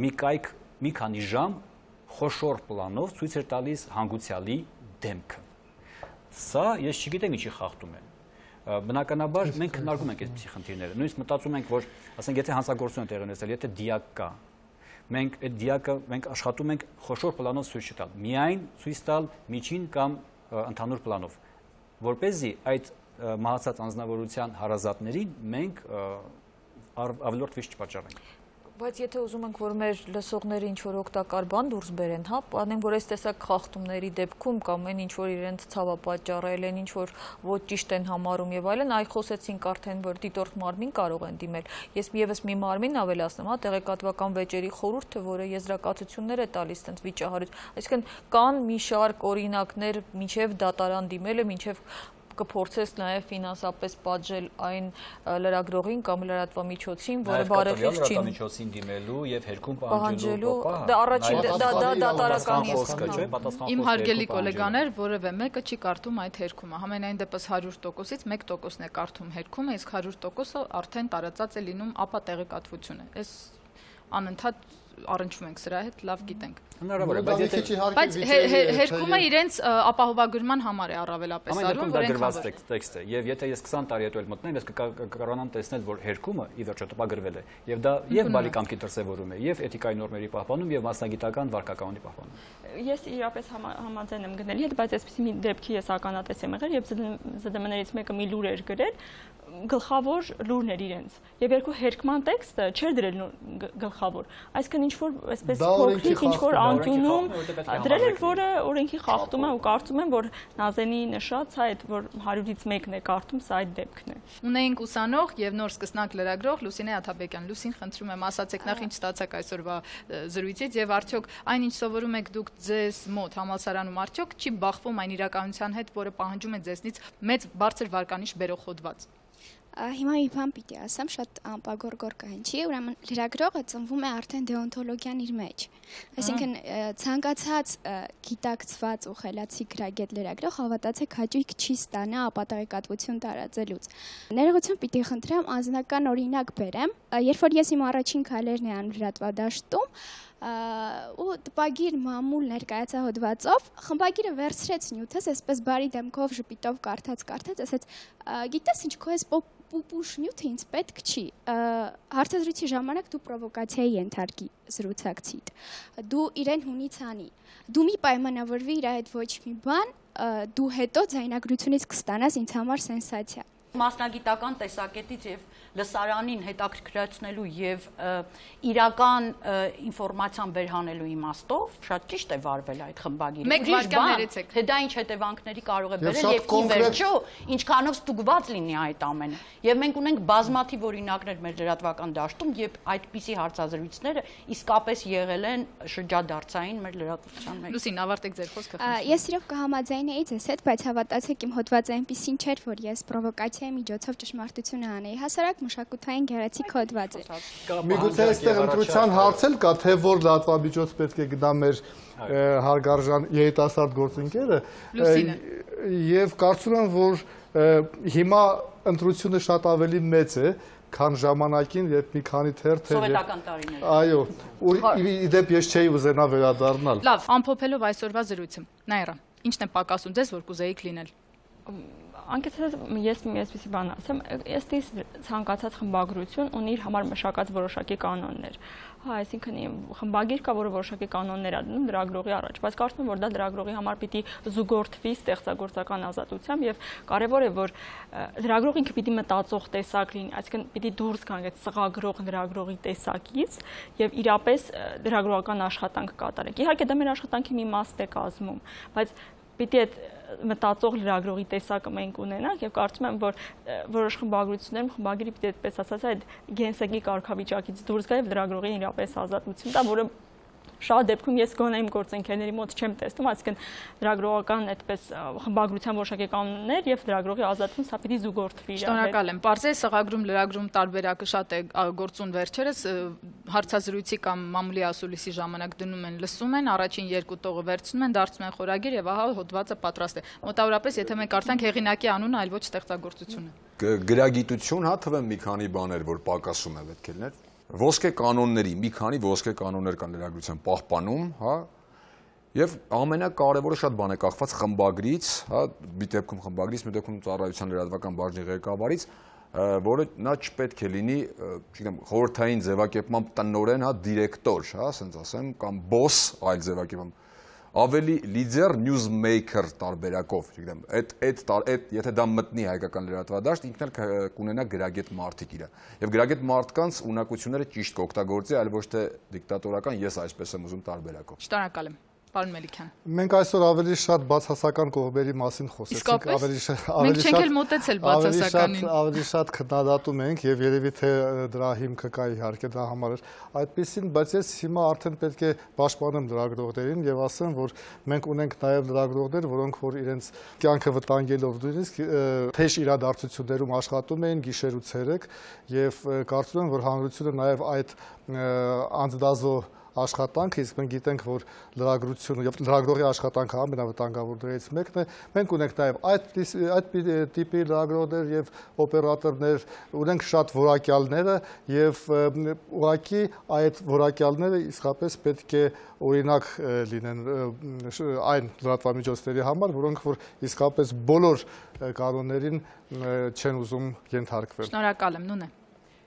մի կայք մի քանի ժամ խոշոր պլանով ցույց էր տալիս հանգուցյալի դեմքը։ Սա ես չգիտեմ ինչի խախտում է։ Բնականաբար մենք քննարկում ենք այսպիսի խնդիրները։ Նույնիսկ մտածում ենք, որ ասենք եթե հանցագործություն է տեղի ունեցել, եթե դիակ կա, մենք այդ դիակը մենք աշխատում ենք խոշոր պլանով ցույց չտալ, միայն ցույց տալ միջին կամ ընդհանուր պլանով, որպեսզի այդ մահացած անձնավորության հարազատներին մենք ավելորդ վիճ չպատճառենք։ Բայց եթե ուզում ենք, որ մեր լսողները ինչ-որ օգտակար բան դուրս բերեն, հա, անենք, որ այս տեսակ խախտումների դեպքում կամ այն ինչ-որ իրենց ցավապատճառել են, ինչ-որ ոչ ճիշտ են համարում եւ այլն, այ խոսեցինք արդեն, որ դիտորդ մարմին կարող են դիմել։ Ես եւս մի մարմին ավելացնեմ, հա, տեղեկատվական վեճերի խորհուրդը, որը եզրակացություններ է տալիս տենց վիճահարույց։ Այսինքն կան մի շարք օրինակներ, մինչեւ դատարան դիմելը, մինչեւ կփորձես նաև ֆինանսապես պատժել այն լրագրողին կամ լրատվամիջոցին, որը բարեխիղճ չի լրատվամիջոցին դիմելու եւ հերքում պահանջելու, դա առաջին դա դատարական է։ Իմ հարգելի գոլեգաներ, որևէ մեկը չի կարդում այդ հերքումը։ Համենայն դեպս 100%-ից 1%-ն է կարդում հերքումը, իսկ 100%-ը արդեն տարածած է լինում ապա տեղեկատվությունը։ Այս անընդհատ առնչվում ենք սրա հետ, լավ գիտենք։ Հնարավոր է, բայց հերքումը իրենց ապահովագրման համար է առավելապես արվում, որ գրված տեքստ է, եւ եթե ես 20 տարի հետո էլ մտնեմ, ես կկարողանամ տեսնել, որ հերքումը ի վերջո տպագրվել է, եւ դա եւ բալիկամքի դրսեւորում է, եւ էթիկայի նորմերի պահպանում, եւ մասնագիտական վարքականոնի պահպանում։ Ես իրապես համաձայն եմ գնելի հետ, բայց այսպեսի մի դեպքի ես ականատես եմ եղել, եւ ԶԴՄ-ներից մեկը մի լուր էր գրել, գլխավոր լուրն էր իրենց, եւ երկու հերքման տեքստը չէր դրել գլխավոր, այսինքն ինչ որ այսպես փոքրիկ ինչ որ անկյունում դրել էր, որը օրենքի խախտում է ու կարծում եմ, որ Նազենի նշած այդ որ 100-ից 1-ն է կարդում, սա այդ դեպքն է։ Ունեինք ուսանող եւ նոր սկսնակ լրագրող Լուսինե Աթաբեկյան։ Լուսին, խնդրում եմ, ասացեք նախ ինչ ստացաք այսօրվա զրույցից եւ արդյոք այն ինչ սովորում եք դուք ձեզ մոտ համալսարանում արդյոք չի բախվում այն իրականության հետ, որը պահանջում է ձեզնից մեծ բարձր վարկանիշ բերող հոդված։ Հիմա մի բան պիտի ասեմ, շատ անպագորգոր կհնչի, ուրեմն լրագրողը ծնվում է արդեն դեոնտոլոգիան իր մեջ։ Այսինքն ցանկացած գիտակցված ու խելացի գրագետ լրագրող հավատացեք հաճույք չի ստանա ապատեղեկատվություն տարածելուց։ Ներողություն պիտի խնդրեմ անձնական օրինակ բերեմ, երբ որ ես իմ առաջին քայլերն էի անում լրատվադաշտում, ու տպագիր մամուլ ներկայացա հոդվածով, խմբագիրը վերցրեց նյութս, այսպես բարի դեմքով ժպիտով կարդաց, ասեց, գիտես ինչ, քո այս պուպուշ նյութը ինձ պետք չի, հարցազրույցի ժամանակ դու պրովոկացիայի ենթարկի զրուցակցիդ, դու իրեն հունից անի, դու մի պայմանավորվի իր հետ ոչ մի բան, դու հետո ձայնագրությունից կստանաս ինձ համար սենսացիա։ Մասնագիտական տեսակետից եւ լսարանին հետաքրքրացնելու եւ իրական ինֆորմացիան վերհանելու իմաստով շատ ճիշտ է վարվել այդ խմբագիրը։ Մեկ վարքան ներեցեք։ Թե դա ինչ հետևանքների կարող է բերել եւ ի վերջո ինչքանով ստուգված լինի այդ ամենը։ Եվ մենք ունենք բազմաթիվ օրինակներ մեր լրատվական դաշտում, երբ այդպիսի հարցազրույցները իսկապես եղել են շրջադարձային մեր լրատվության մեջ։ Լուսին, ավարտեք ձեր խոսքը։ Ես իրոք կհամաձայնեի ձեզ հետ, բայց հավատացեք իմ հոդվածը այնպեսին չէր, որ ես պրովոկացիայի միջոցով ճշմարտությունը անեի։ Հասարակ մշակութային գեղեցիկ հոդված էր։ Միգուցե այստեղ ընտրության հարց էլ կա, թե որ լրատվամիջոց պետք է գնա մեր հարգարժան երիտասարդ գործընկերը, եւ կարծում եմ, որ հիմա ընտրությունը շատ ավելի մեծ է, քան ժամանակին, երբ մի քանի թերթ էր։ Սովետական տարիներ։ Այո, իդեպ ես չէի ուզենա վերադառնալ։ Լավ, ամփոփելով այսօրվա զրույցը, Նաիրա, ի՞նչն է պակասում ձեզ, որ կուզեիք լինել։ Անկեղծ ես այսպեսի բան ասեմ, ըստ ցանկացած խմբագրություն ունի իր համար մշակած որոշակի կանոններ։ Հա, այսինքն խմբագիր կա, որը որոշակի կանոններ ա դնում լրագրողի առաջ, բայց կարծում եմ, որ դա լրագրողի համար պիտի զուգորդվի ստեղծագործական ազատությամբ եւ կարեւոր է, որ լրագրողը ինքը պիտի մտածող տեսակ լինի, այսինքն պիտի դուրս գան այդ սղագրող լրագրողի տեսակից եւ իրապես լրագրողական աշխատանք կատարեք։ Իհարկե դա մեր աշխատանքի մի մաս է կազմում, բայց պիտի այդ մտածող լրագրողի տեսակը մենք ունենանք եւ կարծում եմ, որ որոշ խմբագրություններում խմբագիրը պիտի այդպես ասած այդ գենսեկի կարգավիճակից դուրս գա եւ լրագրողին իրապես ազատություն տա, որը շատ դեպքում ես գոնե իմ գործընկերների մոտ չեմ տեսնում, այսինքն լրագրողական այդպես խմբագրության որոշակի կանոններ եւ լրագրողի ազատություն սա պիտի զուգորդվի։ Շնորհակալ եմ։ Պարզե սղագրում լրագրում տարբերակը շատ է գործուն վերջերս հարցազրույցի կամ մամուլի ասուլիսի ժամանակ դնում են, լսում են, առաջին երկու տողը վերցնում են, դարձնում են խորագիր եւ ահա հոդվածը պատրաստ է։ Մոտավորապես եթե մենք կարդանք հեղինակի անունը, այլ ոչ ստեղծագործությունը։ Գրագիտություն, հա, թվեմ մի քանի բաներ, որ պակասում է պետք է լինել։ Ոսկե կանոնների, մի քանի ոսկե կանոններ կան լրագրության պահպանում, հա, եւ ամենակարևորը շատ բան է կախված խմբագրից, հա, մի դեպքում խմբագրից, մի դեպքում ծառայության լրատվական բաժնի ղեկավարից, որը նա չպետք է լինի, չգիտեմ, խորհրդային ձևակերպմամբ տնօրեն, հա, դիրեկտոր, հա, ասենց ասեմ, կամ boss, այլ ձևակերպում ավելի լիդեր նյուզմեյքեր տարբերակով, չգիտեմ, եթե դա մտնի հայկական լրատվադաշտ, ինքն էլ կունենա գրագետ մարդիկ իրը։ Եվ գրագետ մարդկանց ունակությունները ճիշտ կօգտագործի, այլ ոչ թե դիկտատորական, ես այսպես եմ ուզում տարբերակով։ Շնորհակալ եմ։ Պարոն Մելիքյան։ Մենք այսօր ավելի շատ բացասական կողմերի մասին խոսեցինք, ավելի շատ քննադատում ենք եւ երևի թե դրա հիմքը կա իհարկե դա համար էր այդպեսին, բայց ես հիմա արդեն պետք է պաշտպանեմ լրագրողներին եւ ասեմ, որ մենք ունենք նաեւ լրագրողներ, որոնք որ իրենց կյանքը վտանգելով նույնիսկ թեժ իրադարձություններում աշխատում էին գիշեր ու ցերեկ եւ կարծում եմ, որ հանրությունը նաեւ այդ անձնազո աշխատանք, իսկ մենք գիտենք, որ լրագրությունը եւ լրագրողի աշխատանքը ամենավտանգավորներից մեկն է։ Մենք ունենք նաեւ այդ տիպի լրագրողներ եւ օպերատորներ, ունենք շատ որակյալները եւ ուղղակի այդ որակյալները իսկապես պետք է օրինակ լինեն այն լրատվամիջոցների համար, որոնք որ իսկապես բոլոր կանոններին չեն ուզում ենթարկվել։ Շնորհակալ եմ, Նունե։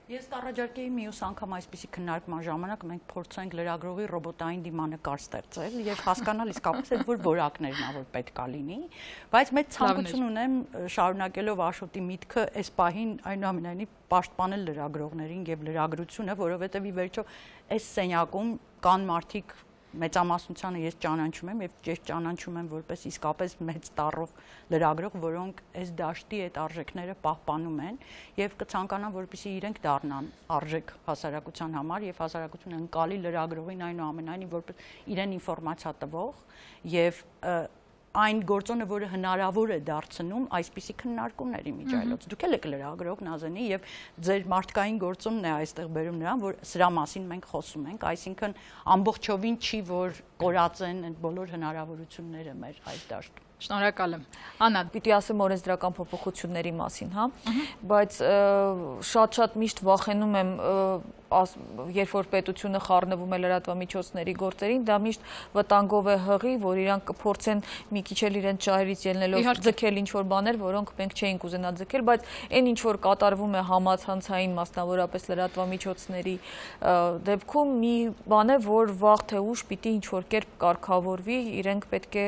Ես առաջարկեի մյուս անգամ այսպիսի քննարկման ժամանակ մենք փորձենք լրագրողի ռոբոտային դիմանկար ստեղծել եւ հասկանալ իսկապես այդ որ որակներն ա որ պետքա լինի, բայց մեծ ցանկություն ունեմ շարունակելով Աշոտի միտքը այս պահին այնուամենայնիվ պաշտպանել լրագրողներին եւ լրագրությունը, որովհետեւ ի վերջո այս սենյակում կան մարդիկ մեծամասնությանը ես ճանաչում եմ եւ ես ճանաչում եմ որպես իսկապես մեծ տառով լրագրող, որոնք այս դաշտի այդ արժեքները պահպանում են եւ կցանկանան որպեսզի իրենք դառնան արժեք հասարակության համար եւ հասարակությունը ընկալի լրագրողին այնուամենայնիվ որպես իրեն ինֆորմացիա տվող եւ այն գործոնը, որը հնարավոր է դարձնում այսպիսի քննարկումների միջայլոց։ Դուք եք լրագրող Նազենի եւ ձեր մարդկային գործոնն է այստեղ բերում նրան, որ սրա մասին մենք խոսում ենք, այսինքն ամբողջովին չի, որ կորած են այդ բոլոր հնարավորությունները մեր այս դաշտում։ Շնորհակալ եմ։ Աննա, պիտի ասեմ օրենսդրական փոփոխությունների մասին, հա, բայց շատ միշտ վախենում եմ, երբ որ պետությունը խառնվում է լրատվամիջոցների գործերին, դա միշտ վտանգով է հղի, որ իրանք կփորձեն մի քիչ էլ իրենց ճահերից ելնելով ձգել ինչ-որ բաներ, որոնք մենք չէինք ուզենա ձգել, բայց այն ինչ որ կատարվում է համացանցային, մասնավորապես լրատվամիջոցների դեպքում մի բան է, որ վաղ թե ուշ պիտի ինչ որ կերպ կարգավորվի, իրենք պետք է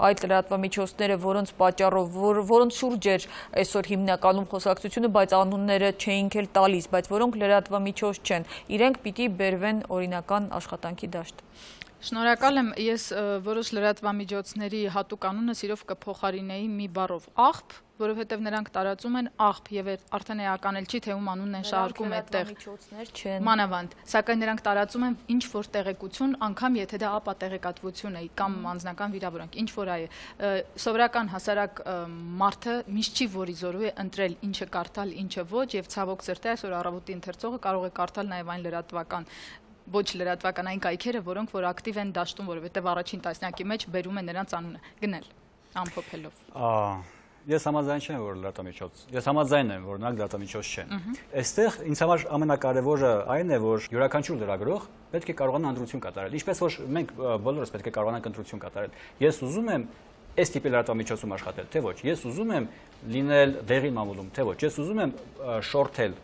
այդ լրատվամիջոցները լրատվամիջոցները, որոնց պատճառով, որոնց շուրջ էր այսօր հիմնականում խոսակցությունը, բայց անունները չէինք էլ տալիս, բայց որոնք լրատվամիջոց չեն, իրենք պիտի բերվեն օրինական աշխատանքի դաշտ։ Շնորհակալ եմ, ես որոշ լրատվամիջոցների հատուկ անունը սիրով կփոխարինեի մի բառով՝ աղբ, որովհետև նրանք տարածում են աղբ եւ արդեն էական էլ չի թե ում անունն են շահարկում այդտեղ։ Մանավանդ, սակայն նրանք տարածում են ինչ որ տեղեկություն, անգամ եթե դա ապատեղեկատվություն է կամ անձնական վիրավորանք, ինչ որ այ սովորական հասարակ մարդը միշտ չի որի զորու է ընտրել ինչը կարդալ, ինչը ոչ եւ ցավոք սրտի այսօր առավոտի ընթերցողը կարող է կարդալ նաեւ այն լրատվական ոչ լրատվականային կայքերը, որոնք որ ակտիվ են դաշտում, որովհետև առաջին տասնյակի մեջ բերում են նրանց անունը գնել ամփոփելով։ Ես համաձայն չեմ, որ լրատվամիջոց։ Ես համաձայն եմ, որ նրանք լրատվամիջոց չեն։ Այստեղ ինձ համար ամենակարևորը այն է, որ յուրաքանչյուր լրագրող պետք է կարողանա ընտրություն կատարել, ինչպես որ մենք բոլորս պետք է կարողանանք ընտրություն կատարել։ Ես ուզում եմ այս տիպի լրատվամիջոցում աշխատել, թե ոչ։ Ես ուզում եմ լինել դեղին մամուլում, թե ոչ։ Ես ուզում եմ շորթել,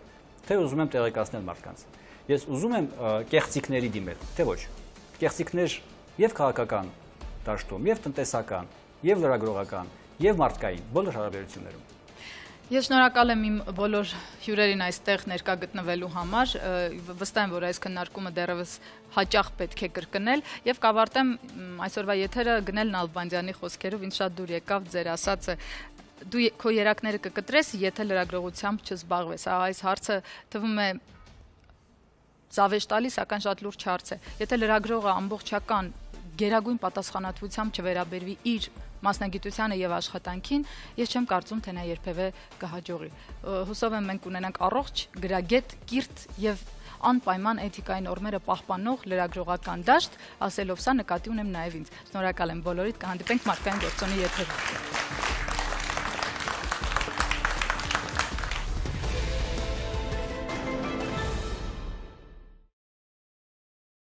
թե ուզում եմ տեղեկացնել մարդկանց։ Ես ուզում եմ կեղծիքների դիմել, թե ոչ։ Կեղծիքներ եւ քաղաքական դաշտում, եւ տնտեսական, եւ լրագրողական, եւ մարդկային բոլոր հարաբերություններում։ Ես շնորհակալ եմ իմ բոլոր հյուրերին այստեղ ներկա գտնվելու համար, վստահ եմ, որ այս քննարկումը դեռևս հաճախ պետք է կրկնել եւ կավարտեմ այսօրվա եթերը գնել Նալբանդյանի խոսքերով, ինձ շատ դուր եկավ ձեր ասածը դու քո երակները կկտրես, եթե լրագրողությամբ չզբաղվես։ Այս հարցը թվում է զավեշ տալի, սակայն շատ լուրջ հարց է։ Եթե լրագրողը ամբողջական գերագույն պատասխանատվությամբ չվերաբերվի իր մասնագիտությանը եւ աշխատանքին, ես չեմ կարծում, թե նա երբևէ կհաջողի։ Հուսով եմ մենք ունենանք առողջ, գրագետ, կիրթ եւ անպայման էթիկայի նորմերը պահպանող լրագրողական դաշտ, ասելով սա նկատի ունեմ նաեւ ինձ։ Շնորհակալ եմ բոլորիդ, կհանդիպենք մարդկային գործոնի եթերում։